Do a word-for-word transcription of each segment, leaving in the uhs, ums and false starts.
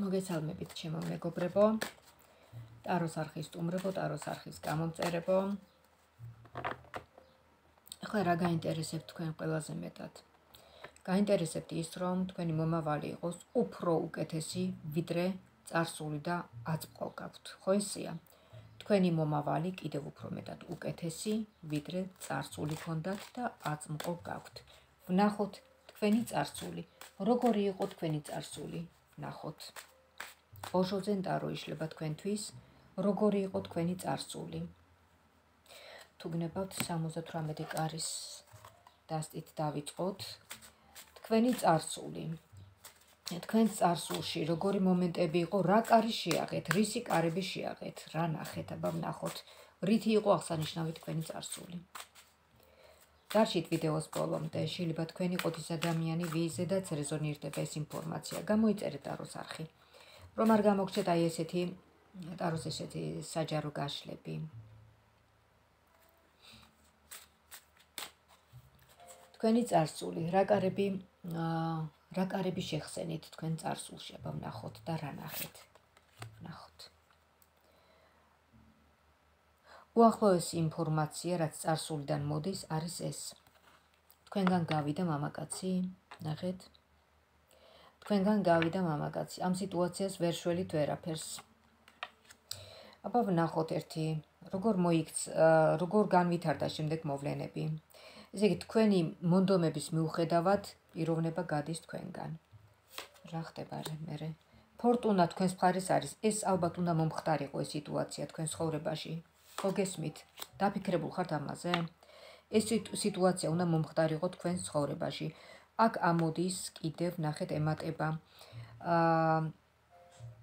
მოგესალმებით ჩემო მეგობრებო, ტაროს არხის სტუმრებო, ტაროს არხის გამომწერებო. ახლა რა გაინტერესებთ თქვენ ყველაზე მეტად? გაინტერესებთ ის, რომ თქვენი მომავალი იყოს უფრო უკეთესი, ვიდრე წარსული და აწმყო გაქვთ. ხო ესეა? თქვენი მომავალი კიდევ უფრო მეტად უკეთესი, ვიდრე წარსული გქონდათ და აწმყო გაქვთ. ვნახოთ თქვენი წარსული. როგორი იყო თქვენი წარსული? ვნახოთ. ოშოძენ ტარო იშლება თქვენთვის, როგორი იყო თქვენი წარსული. თუ გნებავთ სამოცდათვრამეტი კარის დასტით დავიწყოთ. თქვენი წარსული. თქვენ წარსულში როგორი მომენტები იყო, რა კარი შეაღეთ, რისი კარები შეაღეთ, რა ნახეთ, აბა ვნახოთ, რითი იყო აღსანიშნავი თქვენი წარსული. დარჩით ვიდეოს ბოლომდე, შეიძლება თქვენ იყოთ ის ადამიანი, ვიზედაც რეზონირდება ეს ინფორმაცია. გამოიწერეთ ტაროს არხი. რომ არ გამოგჩეთ აი ესეთი ტაროს ესეთი საჯარო გაშლები. თქვენი წარსული, რა კარები, რა კარები შეხსენით თქვენ წარსულში, აბა ვნახოთ და რა ნახეთ. ვნახოთ. უახლოესი ინფორმაცია, რაც წარსულიდან მოდის, არის ეს. თქვენგან გავიდა მამაკაცი, ნახეთ. თქვენგან გავიდა მამაკაცი. ამ სიტუაციას ვერ შველით ვერაფერს. აბა ვნახოთ ერთი, როგორ მოიქცა, როგორ განვითარდა შემდეგ მოვლენები. ესე იგი, თქვენი მონდომების მიუხედავად პიროვნება გადის თქვენგან. რა ხდება მერე? ფორტუნა თქვენს მხარეს არის. ეს ალბათ უნდა მომხდარიყო ეს სიტუაცია თქვენ ცხოვრებაში. ხო გესმით? დაფიქრებულ ხართ ამაზე? ეს სიტუაცია უნდა მომხდარიყო თქვენ ცხოვრებაში. აქ ამოდის კიდევ ნახეთ ემატება. აა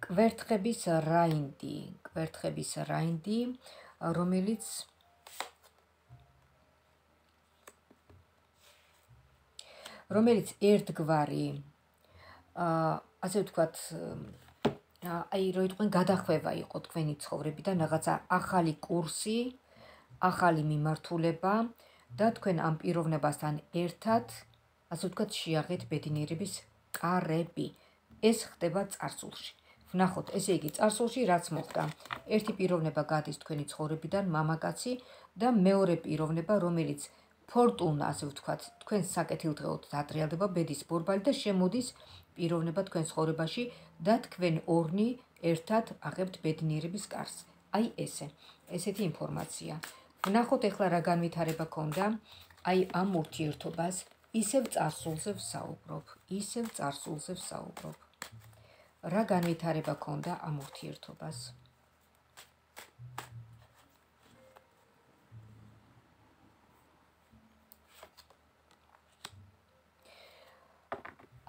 კვერთხების რაინდი, კვერთხების რაინდი, რომელიც რომელიც ერთგვარი აა ასე ვთქვათ, აი რო იყვნენ გადახვევა იყო თქვენი ცხოვრებიდან, რაღაცა ახალი კურსი, ახალი მიმართულება და თქვენ ამ პიროვნებასთან ერთად ასე ვთქვათ, შეაღეთ ბედნიერების კარები. ეს ხდება წარსულში. ვნახოთ, ესე იგი, წარსულში რაც მოხდა. ერთი პიროვნება გადის თქვენი ცხოვრებიდან, მამაკაცი და მეორე პიროვნება, რომელიც ფორტუნა, ასე ვთქვათ, თქვენ საკეთილდღეოდ დატრიალდება ბედის ბორბალი და შემოდის პიროვნება თქვენ ცხოვრებაში და თქვენ ორნი ერთად აღებთ ბედნიერების კარს. აი ესე, ესეთი ინფორმაცია. ვნახოთ ახლა რა განვითარება ქონდა, აი ამ ურთიერთობას. ისევ წარსულზე ვსაუბრობ, ისევ წარსულზე ვსაუბრობ. რა განვითარება ქონდა ამ ურთიერთობას?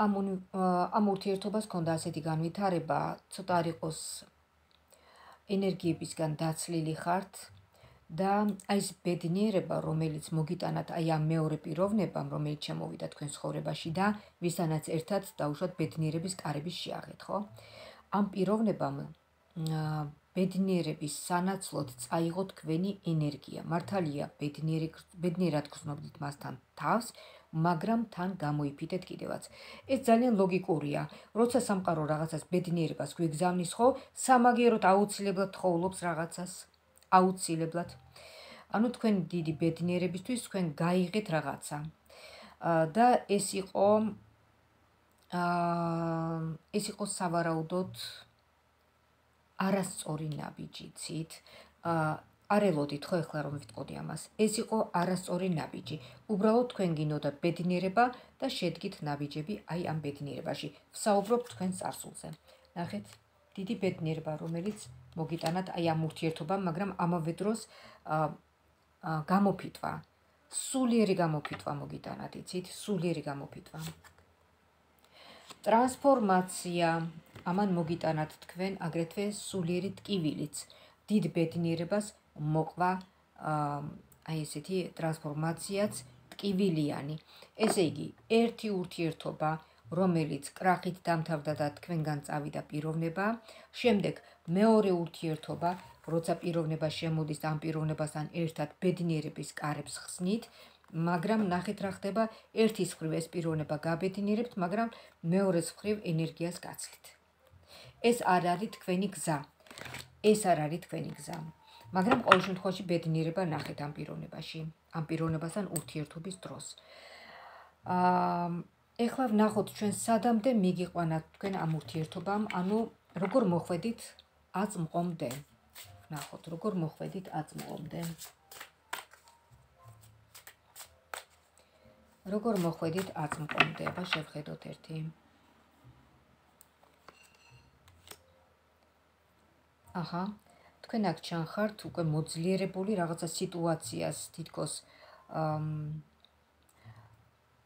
ამ ამ ურთიერთობას ქონდა ასეთი განვითარება, ცოტა არ იყოს ენერგიებისგან დაცლილი ხართ და აი ეს ბედნიერება, რომელიც მოგიტანათ აი ამ მეორე პიროვნებამ, რომელიც შემოვიდა თქვენ ცხოვრებაში და ვისთანაც ერთად დაუშვათ ბედნიერების კარების შეაღეთ, ხო? ამ პიროვნებამ ბედნიერების სანაცვლოდ წაიღო თქვენი ენერგია. მართალია, ბედნიერად გრძნობდით მასთან თავს, მაგრამ თან გამოიფიდეთ კიდევაც. ეს ძალიან ლოგიკურია. როცა სამყარო რაღაცას ბედნიერებას გვიგზავნის, ხო, სამაგიეროდ აუცილებლად თხოვლობს რაღაცას. აუცილებლად. ანუ თქვენ დიდი ბედნიერებისთვის თქვენ გაიღეთ რაღაცა. და ეს იყო აა ეს იყო სავარაუდოდ არასწორი ნაბიჯი, ცით. აა არ ელოდით ხო ეხლა რომ ვიტყოდი ამას. ეს იყო არასწორი ნაბიჯი. უბრალოდ თქვენ გინდოდა ბედნიერება და შედგით ნაბიჯები აი ამ ბედნიერებაში. ვსაუბრობ თქვენ წარსულზე. ნახეთ, დიდი ბედნიერება, რომელიც მოგიტანათ აი ამ ურთიერთობამ, მაგრამ ამავე დროს აა გამოფიტვა, სულიერი გამოფიტვა მოგიტანათ, იცით, სულიერი გამოფიტვა. ტრანსფორმაცია, ამან მოგიტანათ თქვენ აგრეთვე სულიერი ტკივილიც, დიდ ბედნიერებას მოყვა აი ესეთი ტრანსფორმაციაც ტკივილიანი. ესე იგი, ერთი ურთიერთობა, რომელიც კრახით დამთავრდა და თქვენგან წავიდა პიროვნება, შემდეგ მეორე ურთიერთობა, როცა პიროვნება შემოდის ამ პიროვნებასთან ერთად ბედნიერების კარებს ხსნით, მაგრამ ნახეთ რა ხდება, ერთის მხრივ ეს პიროვნება გაბედნიერებთ, მაგრამ მეორეს მხრივ ენერგიას გაცლით. ეს არ არის თქვენი გზა. ეს არ არის თქვენი გზა. მაგრამ ყოველ შემთხვევაში ბედნიერება ნახეთ ამ პიროვნებაში, ამ პიროვნებასთან ურთიერთობის დროს. აა ეხლა ვნახოთ ჩვენ სადამდე მიგიყვანათ თქვენ ამ ურთიერთობამ, ანუ როგორ მოხვედით აწმყომდე. ვნახოთ როგორ მოხვედით აწმყომდე. როგორ მოხვედით აწმყომდე, აბა შევხედოთ ერთი. აჰა, თქვენ აქ ჩანხართ უკვე მოძლიერებული რაღაცა სიტუაციას თითქოს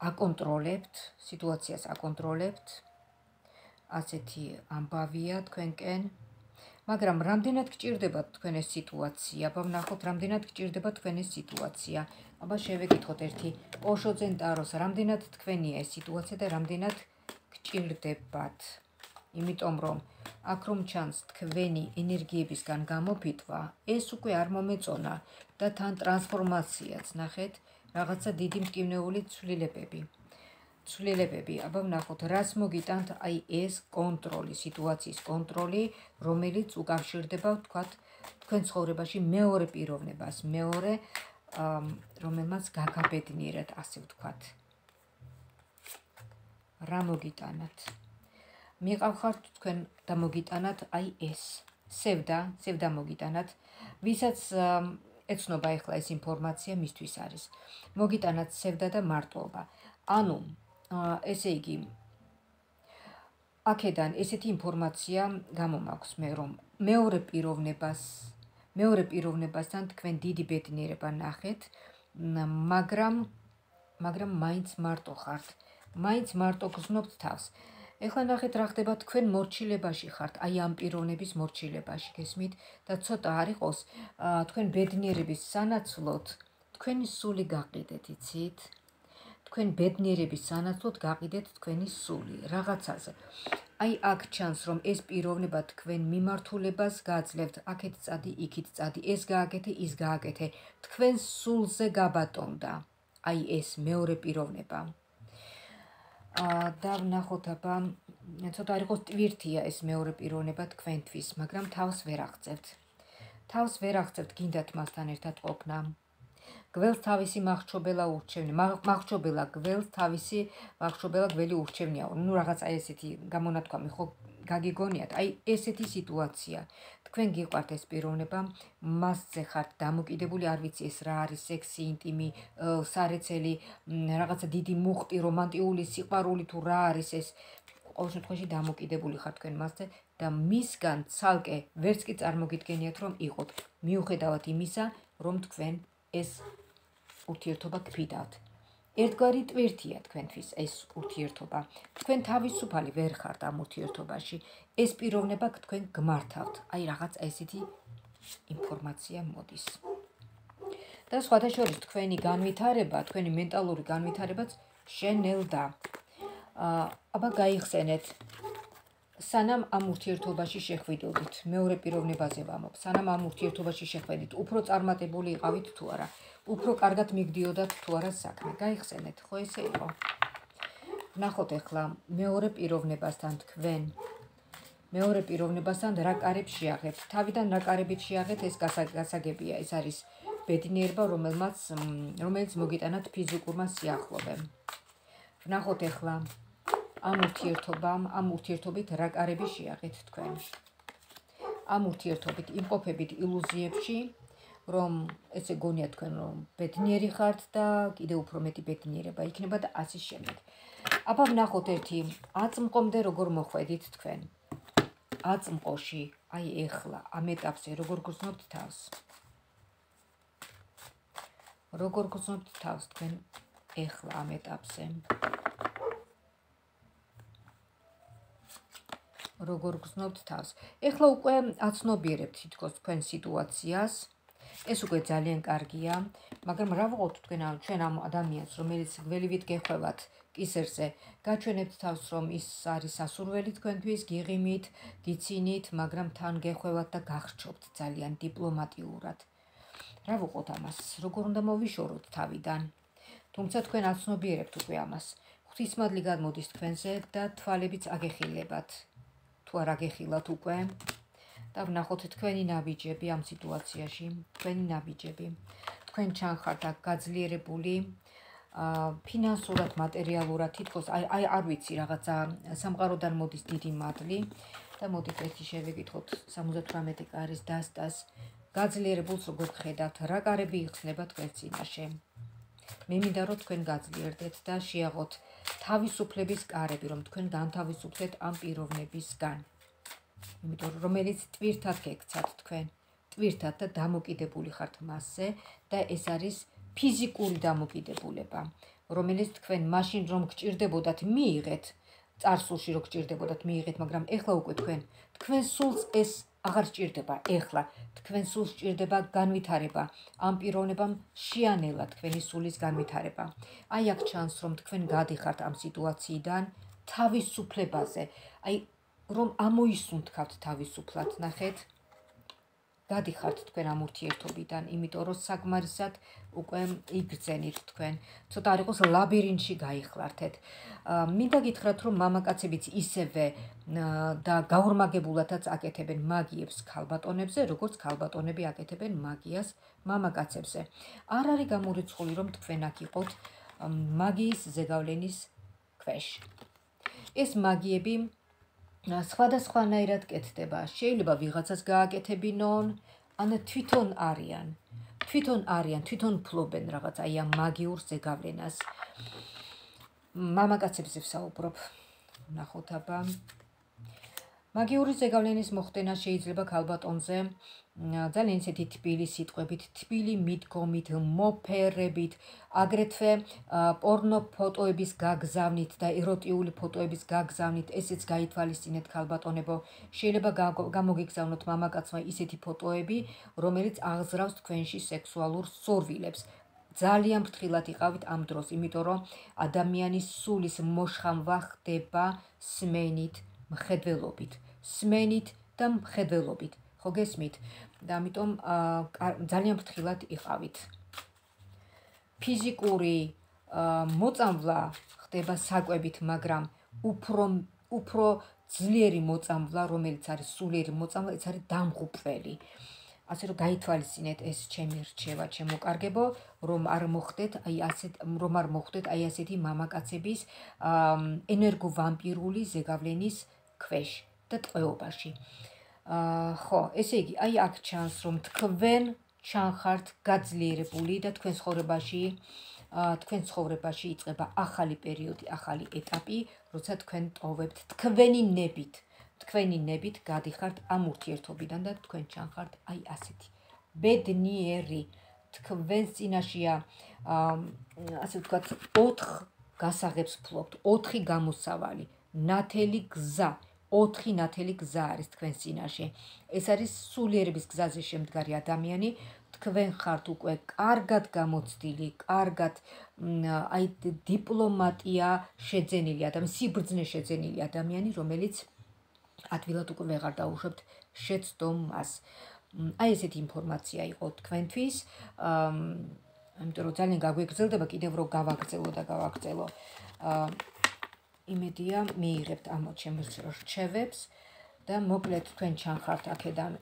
აკონტროლებთ, სიტუაციას აკონტროლებთ. ასეთი ამბავია თქვენკენ. მაგრამ რამდენად გჭირდებათ თქვენ ეს სიტუაცია? აბა ვნახოთ, რამდენად გჭირდებათ თქვენ ეს სიტუაცია. აბა შევეკითხოთ ერთი ოშოძენ ტაროს, რამდენად თქვენია ეს სიტუაცია და რამდენად გჭირდებათ? იმიტომ რომ აქ რომ ჩანს თქვენი ენერგიებისგან გამოფიტვა, ეს უკვე არ მომეწონა და თან ტრანსფორმაციაც, ნახეთ, რაღაცა დიდი მტკივნეული ცვლილებები. ცვლილებები, აბა ვნახოთ, რას მოგიტანთ აი ეს კონტროლი, სიტუაციის კონტროლი, რომელიც უკავშირდება, ვთქვათ, თქვენ ცხოვრებაში მეორე პიროვნებას, მეორე, რომელმაც გაგაბედნიერათ, ასე ვთქვათ. რა მოგიტანათ? მიყავხართ თქვენ და მოგიტანათ აი ეს სევდა, სევდა მოგიტანათ, ვისაც ეცნობა ეხლა ეს ინფორმაცია მისთვის არის. მოგიტანათ სევდა და მარტოობა. ანუ, ესე იგი, აქედან ესეთი ინფორმაცია გამომაქვს მე, რომ მეორე პიროვნებას, მეორე პიროვნებასთან თქვენ დიდი ბედნიერება ნახეთ, მაგრამ, მაგრამ მაინც მარტო ხართ, მაინც მარტო გრძნობთ თავს. ეხლა ნახეთ რა ხდება თქვენ მორჩილებაში ხართ, აი ამ პიროვნების მორჩილებაში, გესმით? და ცოტა არ იყოს თქვენ ბედნიერების სანაცვლოდ თქვენი სული გაყიდეთ, იცით? თქვენ ბედნიერების სანაცვლოდ გაყიდეთ თქვენი სული რაღაცაზე. აი აქ ჩანს რომ ეს პიროვნება თქვენ მიმართულებას გააძლევთ, აქეთ წადი, იქით წადი, ეს გააკეთე, ის გააკეთე, თქვენ სულზე გაბატონდა. აი ეს მეორე პიროვნება. და ვნახოთ, აბა ცოტა არ იყოს ტვირთია ეს მეორე პიროვნება თქვენთვის, მაგრამ თავს ვერ აღწევთ. თავს ვერ აღწევთ, გინდათ მასთან ერთად ყოფნა. გველს თავისი მახრჩობელა ურჩევნია, მახრჩობელა გველს თავისი მახრჩობელა გველი ურჩევნია. ნუ რაღაცა ესეთი გამონათქვამი ხო გაგიგონიათ, აი ესეთი სიტუაცია. თქვენ გიყვართ ეს პიროვნება, მასზე ხართ დამოკიდებული, არ ვიცი ეს რა არის, სექსი, ინტიმი, სარეცელი, რაღაცა დიდი მუხტი, რომანტიული სიყვარული თუ რა არის ეს, ყოველ შემთხვევაში დამოკიდებული ხართ თქვენ მასზე და მისგან ცალკე ვერც კი წარმოგიდგენიათ რომ იყოთ, მიუხედავად იმისა, რომ თქვენ ეს ურთიერთობა გფიდავთ. ერთგვარი ტვირთია თქვენთვის ეს ურთიერთობა. თქვენ თავისუფალი ვერ ხართ ამ ურთიერთობაში. ეს პიროვნება თქვენ გმართავთ. აი რაღაც ესეთი ინფორმაცია მოდის. და სხვათა შორის თქვენი განვითარება, თქვენი მენტალური განვითარებაც შენელდა. აბა გაიხსენეთ. სანამ ამ ურთიერთობაში შეხვიდოდით, მეორე პიროვნებაზე ვამბობ, სანამ ამ ურთიერთობაში შეხვედით, უფრო წარმატებული იყავით თუ არა, უფრო კარგად მიგდიოდათ თუ არა საქმე. გაიხსენეთ, ხო ესე იყო? ვნახოთ ახლა მეორე პიროვნებასთან თქვენ, მეორე პიროვნებასთან რა კარებს შეაღებთ. თავიდან რა კარებით შეაღეთ, ეს გასაგებია, ეს არის ბედნიერება, რომელმაც რომელიც მოგიტანათ ფიზიკურმა სიახლოვემ. ვნახოთ ახლა ამ ურთიერთობამ, ამ ურთიერთობით რა კარები შეაღეთ თქვენ. ამ ურთიერთობით იმყოფებით ილუზიებში, რომ ესე გონიათ თქვენ რომ ბედნიერი ხართ და კიდევ უფრო მეტი ბედნიერება იქნება და ასე შემდეგ. აბა ვნახოთ ერთი აწმყომდე როგორ მოხვედით თქვენ. აწმყოში, აი ეხლა ამ ეტაპზე როგორ გრძნობთ თავს. როგორ გრძნობთ თავს თქვენ ეხლა ამ ეტაპზე. როგორ გრძნობთ თავს. ეხლა უკვე აცნობიერებთ თითქოს თქვენ სიტუაციას. ეს უკვე ძალიან კარგია, მაგრამ რა ვუყოთ თქვენ ჩვენ ამ ადამიანს, რომელიც გველივით გეხვევათ კისერზე, გაჩვენებთ თავს, რომ ის არის სასურველი თქვენთვის, გიღიმით, გიცინით, მაგრამ თან გეხვევათ და გახრჩობთ ძალიან დიპლომატიურად. რა ვუყოთ ამას? როგორ უნდა მოვიშოროთ თავიდან? თუმცა თქვენ აცნობიერებთ უკვე ამას. ღვთისმადლი გადმოდის თქვენზე და თვალებიც აგეხილებათ. თუ თუ არ აგეხილათ უკვე და ვნახოთ თქვენი ნაბიჯები ამ სიტუაციაში, თქვენი ნაბიჯები. თქვენ ჩანხართ აქ გაძლიერებული, ფინანსურად, მატერიალურად, თითქოს აი აი არ ვიცი, რაღაცა სამყაროდან მოდის დიდი მადლი და მოდით ერთი შევეკითხოთ სამოცდათვრამეტი კარის დასტას. გაძლიერებულს როგორ ხედავთ, რა კარები იხსნება თქვენ წინაშე. მე მინდა რომ თქვენ გაძლიერდეთ და შეაღოთ თავისუფლების კარები, რომ თქვენ განთავისუფლდეთ ამ პიროვნებისგან. იმიტომ რომ რომელიც ტვირთად გექცათ თქვენ, ტვირთად და დამოკიდებული ხართ მასზე და ეს არის ფიზიკური დამოკიდებულება, რომელიც თქვენ მაშინ რომ გჭირდებოდათ მიიღეთ, წარსულში რო გჭირდებოდათ მიიღეთ, მაგრამ ეხლა უკვე თქვენ თქვენ სულს ეს აღარ სჭირდება, ეხლა თქვენ სულს სჭირდება განვითარება, ამ პიროვნებამ შეანელა თქვენი სულის განვითარება. აი აქ ჩანს რომ თქვენ გადიხართ ამ სიტუაციიდან თავისუფლებაზე, აი რომ ამოისუნთქავთ თავისუფლად, ნახეთ, გადიხართ თქვენ ამ ურთიერთობიდან, იმიტომ რომ საკმარისად უკვე იგრძენით თქვენ, ცოტა არ იყოს ლაბირინთში გაიხლართეთ. მინდა გითხრათ, რომ მამაკაცებიც ისევე და გაორმაგებულადაც აკეთებენ მაგიებს ქალბატონებზე, როგორც ქალბატონები აკეთებენ მაგიას მამაკაცებზე. არ არის გამორიცხული, რომ თქვენ აქ იყოთ მაგიის ზეგავლენის ქვეშ. ეს მაგიები სხვადასხვანაირად კეთდება. შეიძლება ვიღაცას გააკეთებინონ, ან თვითონ არიან. თვითონ არიან, თვითონ ფლობენ რაღაც აი ამ მაგიურ ზეგავლენას. მამაკაცებზე ვსაუბრობ. ნახოთ აბა. მაგიური ზეგავლენის მოხდენა შეიძლება ქალბატონზე ძალიან ისეთი თბილი სიტყვებით, თბილი მიდგომით, მოფერებით, აგრეთვე პორნო ფოტოების გაგზავნით და ეროტიული ფოტოების გაგზავნით, ესეც გაითვალისწინეთ ქალბატონებო. შეიძლება გამოგიგზავნოთ მამაკაცმა ისეთი ფოტოები, რომელიც აღზრავს თქვენში სექსუალურ სურვილებს. ძალიან ფრთხილად იყავით ამ დროს, იმიტომ რომ ადამიანის სულის მოშხამვა ხდება სმენით, მხედველობით, სმენით და მხედველობით. ხო გესმით? და ამიტომ ძალიან ფრთხილად იყავით. ფიზიკური მოწამვლა ხდება საკვებით, მაგრამ უფრო უფრო ძლიერი მოწამვლა, რომელიც არის სულიერი მოწამვლა, ეს არის დამღუპველი. ასე რომ გაითვალისწინეთ ეს ჩემი რჩევა, ჩემო კარგებო, რომ არ მოხდეთ აი ასეთ რომ არ მოხდეთ აი ასეთი მამაკაცების ენერგოვამპირული ზეგავლენის ქვეშ და ტყვეობაში. ხო, ესე იგი, აი აქ ჩანს, რომ თქვენ ჩანხართ გაძლიერებული და თქვენ ცხოვრებაში, თქვენ ცხოვრებაში იწყება ახალი პერიოდი, ახალი ეტაპი, როცა თქვენ ტოვებთ თქვენი ნებით, თქვენი ნებით გადიხართ ამ ურთიერთობიდან და თქვენ ჩანხართ აი ასეთი ბედნიერი, თქვენს წინაშეა, ასე ვთქვათ, ოთხ გასაღებს ფლობთ, ოთხი გამოსავალი, ნათელი გზა. ოთხი ნათელი გზა არის თქვენს წინაშე. ეს არის სულიერების გზაზე შემდგარი ადამიანი. თქვენ ხართ უკვე კარგად გამოცდილი, კარგად აი დიპლომატია შეძენილი ადამიანი, სიბრძნე შეძენილი ადამიანი, რომელიც ადვილად უკვე ვეღარ დაუშვებთ შეცდომას. აი ესეთი ინფორმაცია იყო თქვენთვის. ამიტომ რომ ძალიან გაგვეგრძელდება, კიდევ რომ გავაგრძელო და გავაგრძელო. იმედია მიიღებთ ამ ჩემს რჩევებს და მოკლედ თქვენ ჩანხართ აქედან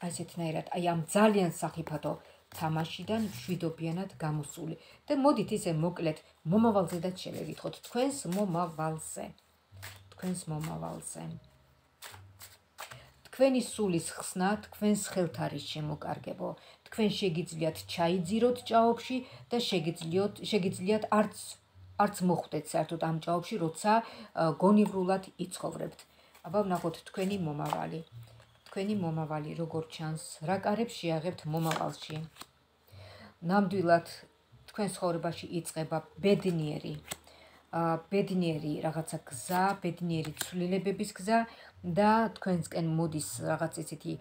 აი ესეთნაირად აი ამ ძალიან სახიფათო თამაშიდან მშვიდობიანად გამოსული და მოდით ისე მოკლედ მომავალზედაც შევეკითხოთ თქვენს მომავალზე თქვენს მომავალზე თქვენი სულის ხსნა თქვენს ხელთ არის შემოკარგებო თქვენ შეგიძლიათ ჩაიძიროთ ჭაობში და შეგიძლიათ შეგიძლიათ არც არც მოხვდეთ საერთოდ ამ ჭაობში, როცა გონივრულად იცხოვრებთ. აბა ვნახოთ თქვენი მომავალი. თქვენი მომავალი როგორ ჩანს, რა კარებს შეაღებთ მომავალში. ნამდვილად თქვენ ცხოვრებაში იწყება ბედნიერი, ბედნიერი რაღაცა გზა, ბედნიერი ცვლილებების გზა და თქვენსკენ მოდის რაღაც ესეთი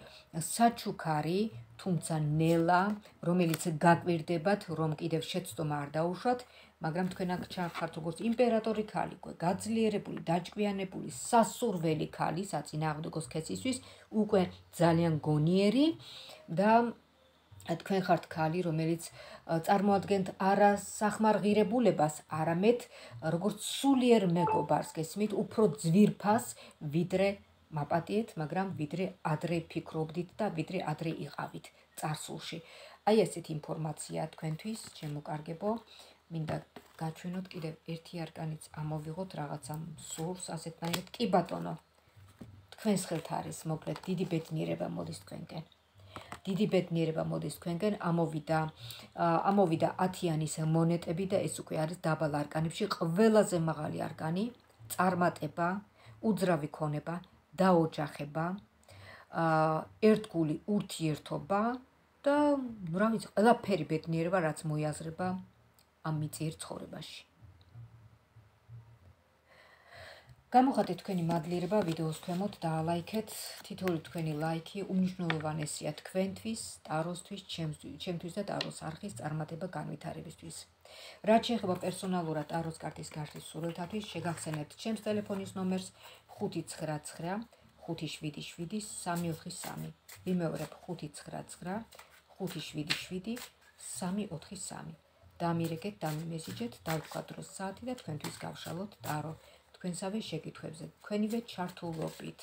საჩუქარი, თუმცა ნელა, რომელიც გაკვირდებათ, რომ კიდევ შეცდომა არ დაუშვათ, მაგრამ თქვენ აქ ჩახართ როგორც იმპერატორი ქალი, გაძლიერებული, დაჭკვიანებული, სასურველი ქალი, საწინააღმდეგო სქესისთვის, უკვე ძალიან გონიერი და თქვენ ხართ ქალი, რომელიც წარმოადგენთ არა სახმარღირებულებას, არამედ როგორც სულიერ მეგობარს, გესმით, უფრო ძვირფას, ვიდრე მაპატიეთ, მაგრამ ვიდრე ადრე ფიქრობდით და ვიდრე ადრე იყავით წარსულში. აი ესეთ ინფორმაცია თქვენთვის, ჩემო კარგებო, მინდა გაჩვენოთ კიდევ ერთი არკანიც ამოვიღოთ რაღაცა სურს ასეთნაირად. კი ბატონო, თქვენს ხელთ არის, მოკლედ, დიდი ბედნიერება მოდის თქვენკენ. დიდი ბედნიერება მოდის თქვენკენ, ამოვიდა, ამოვიდა ათიანის მონეტები და ეს უკვე არის დაბალ არკანებში ყველაზე მაღალი არკანი, წარმატება, უძრავი ქონება, დაოჯახება, ერთგული ურთიერთობა და რა ვიცი, ყველაფერი ბედნიერება, რაც მოიაზრება ამ მიწიერ ცხოვრებაში. გამოხატეთ თქვენი მადლიერება ვიდეოს ქვემოთ, დაალაიქეთ, თითოეული თქვენი ლაიქი უმნიშვნელოვანესია თქვენთვის, ტაროსთვის, ჩემთვის და ტაროს არხის წარმატება განვითარებისთვის. რაც შეეხება პერსონალურად ტაროს კარტის გაშლის სურვილთათვის, შეგახსენებთ ჩემს ტელეფონის ნომერს ხუთი ცხრა ცხრა ხუთი შვიდი შვიდი სამი ოთხი სამი. ვიმეორებ ხუთი ცხრა ცხრა ხუთი შვიდი შვიდი სამი ოთხი სამი. დამირეკეთ, დამიმესიჯეთ, დავთქვათ დროს საათი და თქვენთვის გავშალოთ ტარო. თქვენსავე შეკითხვებზე, თქვენივე ჩართულობით.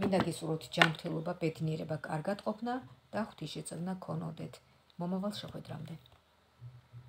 მინდა გისურვოთ ჯანმრთელობა, ბედნიერება, კარგად ყოფნა და ღვთისშეწყვეტნა გქონოდეთ. მომავალ შეხვედრამდე.